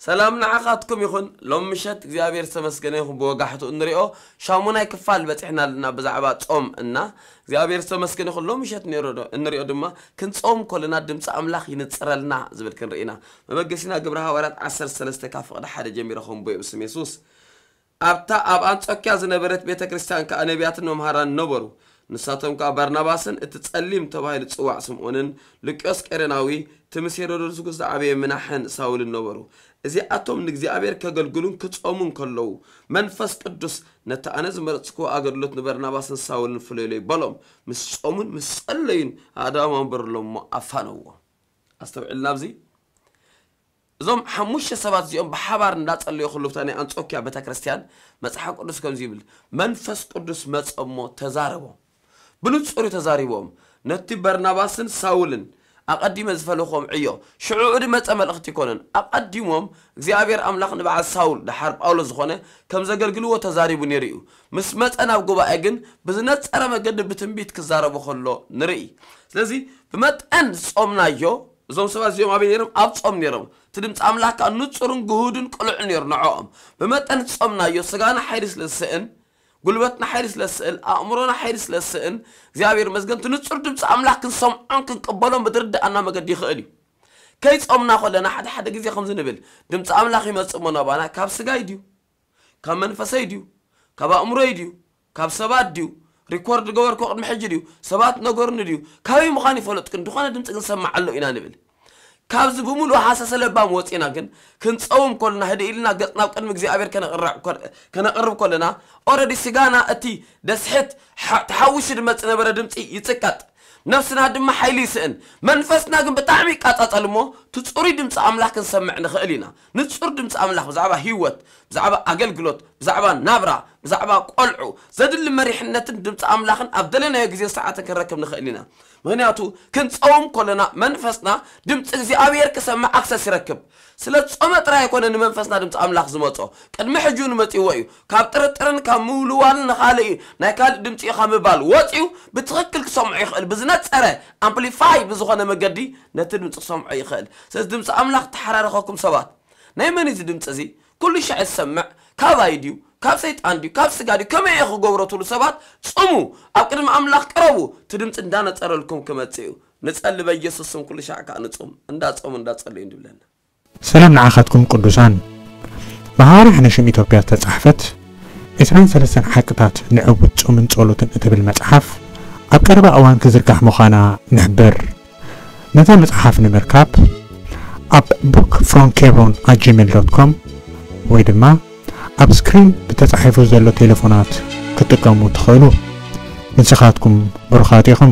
ሰላም ንዓኻትኩም ይኹን። ሎም ምሸት እግዚኣብሔር ዝተመስገነ ይኹን። ብወጋሕቱ እንሪኦ ሻሙናይ ክፋል በፂሕና ኣለና ብዛዕባ ጾም እና እግዚኣብሔር ዝተመስገነ ይኹን። ሎም ምሸት እንሪኦ ድማ ክንጾም ከለና ድምፂ ኣምላኽ ይንፅረልና ዝብል ክንርኢ ኢና። መበገሲና ግብረ ሃዋርያት ዓሰርተ ሰለስተ ካብ ፍቕዲ ሓደ ጀሚረ ከንብቦ እየ ብስም የሱስ። ኣብታ ኣብ ኣንጾኪያ ዝነበረት ቤተ ክርስቲያን ከኣ ነቢያትን መምሃራን ነበሩ። ንሳቶም ከኣ ባርናባስን እቲ ጸሊም ተባሂሉ ዝጽዋዕ ስምዖንን ሉቅዮስ ቀሬናዊ እቲ ምስ ሄሮድስ ንጉስ ዝዓበየ ምናሕን ሳውልን ነበሩ። እዚኣቶም ንእግዚኣብሔር ከገልግሉን ክጾሙን ከለዉ መንፈስ ቅዱስ ነቲ ኣነ ዝመረጽክዎ ኣገልግሎት ንበርናባስን ሳውልን ፍለዩለይ በሎም። ምስ ጾሙን ምስ ጸለዩን ኣእዳዎም ኣንበሩሎም እሞ ኣፋነውዎም። ኣስተውዕልና ኣብዚ እዞም ሓሙሽተ ሰባት እዚኦም ብሓባር እንዳጸለዩ ከለዉ እታ ናይ ኣንጾኪያ ቤተክርስትያን መጽሓፍ ቅዱስ ከምዚ ይብል፣ መንፈስ ቅዱስ መጸ እሞ ተዛረቦም። ብንጹር እዩ ተዛሪቦም። ነቲ በርናባስን ሳውልን ኣቐዲመ ዝፈለኹዎም ዕዮ ሽዑ ድመጸ መልእኽቲ ይኮነን። ኣቐዲሞም እግዚኣብሔር ኣምላኽ ንበዓል ሳውል ደሓር ጳውሎስ ዝኾነ ከም ዘገልግልዎ ተዛሪቡ ነይሩ እዩ። ምስ መጸ ናብ ጉባኤ ግን ብዝነጸረ መገዲ ብትንቢት ክዛረቡ ከሎ ንርኢ። ስለዚ ብመጠን ዝጾምናዮ እዞም ሰባት እዚኦም ኣበይ ነይሮም? ኣብ ጾም ነይሮም። እቲ ድምፂ ኣምላኽ ከዓ ንጹርን ግሁድን ቅሉዕን ነይሩ ንዕኦም። ብመጠን ዝጾምናዮ ስጋና ሓይሊ ስለ ዝስእን ጉልበትና ሓይሊ ስለ ዝስእል ኣእምሮና ሓይሊ ስለ ዝስእን እግዚኣብሔር መስገን እቲ ንጹር ድምፂ ኣምላኽ ክንሰምዖን ክንቅበሎን ብዝርድኣና መገዲ ይኽእል እዩ። ከይጾምና ከለና ሓደ ሓደ ግዜ ከምዚ ንብል ድምፂ ኣምላኽ ይመጽእ እሞ ናባና ካብ ስጋይ ድዩ ካብ መንፈሰይ ድዩ ካብ ኣእምሮይ ድዩ ካብ ሰባት ድዩ ሪኮርድ ገበርኮ ቅድሚ ሕጂ ድዩ ሰባት ነገርኒ ድዩ ካበይ ምዃን ይፈለጥክን ዝኾነ ድምፂ ክንሰማዕ ኣሎ ኢና ንብል። ካብዚ ብምሉእ ሃሰሰ ለባም ወፂና ግን ክንፀውም ከለና ህድእ ኢልና ገፅና ኣብ ቅድሚ እግዚኣብሔር ከነቕርብ ከለና ኦረዲ ስጋና እቲ ደስሕት ተሓዊሱ ድመፅ ነበረ ድምፂ ይፅቀጥ። ነፍስና ድማ ሓይሊ ይስእን። መንፈስና ግን ብጣዕሚ ይቃፃፀል እሞ እቲ ፅሩይ ድምፂ ኣምላኽ ክንሰምዕ ንኽእል ኢና። ንፁር ድምፂ ኣምላኽ ብዛዕባ ህይወት ብዛዕባ ኣገልግሎት ብዛዕባ ናብራ ብዛዕባ ቆልዑ ዘድሊ መሪሕነትን ድምፂ ኣምላኽን ኣብ ደለናዮ ግዜን ሰዓትን ክንረክብ ንኽእል ኢና። ምኽንያቱ ክንፀውም ከለና መንፈስና ድምፂ እግዚኣብሔር ክሰምዕ ኣክሰስ ይረክብ። ስለ ጾመ ጥራይ ኣይኮነ ንመንፈስና ድምፂ ኣምላኽ ዝመፆ ቅድሚ ሕጂ እውን መፂዎ እዩ። ካብ ጥርጥርን ካብ ምውልዋልን ንኻልእ እዩ ናይ ካልእ ድምፂ እዩ ካብ ምባል ወፂኡ ብትኽክል ክሰምዖ ይኽእል ብዝነፀረ ኣምፕሊፋይ ብዝኾነ መገዲ ነቲ ድምፂ ክሰምዖ ይኽእል። ስለዚ ድምፂ ኣምላኽ ተሓራረኸኩም ሰባት ናይ መን እዚ ድምፂ እዚ ኩሉ ሻዕ ዝሰምዕ ካባይ ድዩ ካብ ሰይጣን ድዩ ካብ ስጋ ድዩ ከመይ እየ ክገብሮ ትብሉ ሰባት ፅሙ ኣብ ቅድሚ ኣምላኽ ቅረቡ። እቲ ድምፂ እንዳነፀረልኩም ክመፅእ እዩ። ንፀሊ በኢየሱስ ስም ኩሉ ሻዕ ከዓ ንፁም እንዳፀሙ እንዳፀሉ እዩ እንድብለና። ሰላም ንዓኻትኩም ቅዱሳን። ብሃዋርያ ሕነሽም ኢትዮጵያ ዝተጻሕፈት ዕስራን ሰለስተን ሓቅታት ንዕውት ጾምን ጸሎትን እትብል መጽሓፍ ኣብ ቀረባ እዋን ክዝርጋሕ ምዃና ንሕብር። ነዛ መጽሓፍ ንምርካብ ኣብ book from kebron at gmail dot com ወይ ድማ ኣብ ስክሪን ብተጻሒፉ ዘሎ ቴሌፎናት ክትጥቀሙ ትኽእሉ። ንስኻትኩም ብሩኻት ኢኹም።